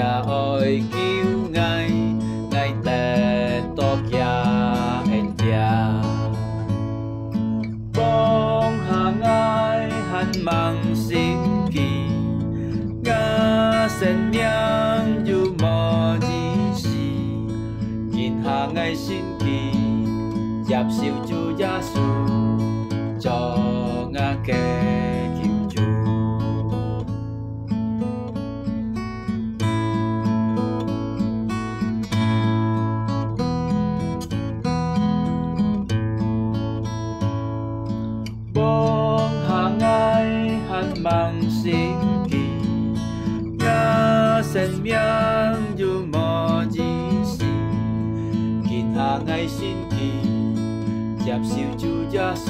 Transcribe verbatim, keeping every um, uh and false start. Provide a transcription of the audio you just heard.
愛救𠊎，𠊎得到厥恩典。放下𠊎還吂心機，吾生命又無意思。今下𠊎心機，接受主耶穌，做吾个救主。 放下𠊎還吂心機，吾生命又無意思。今下𠊎心機，接受主耶穌，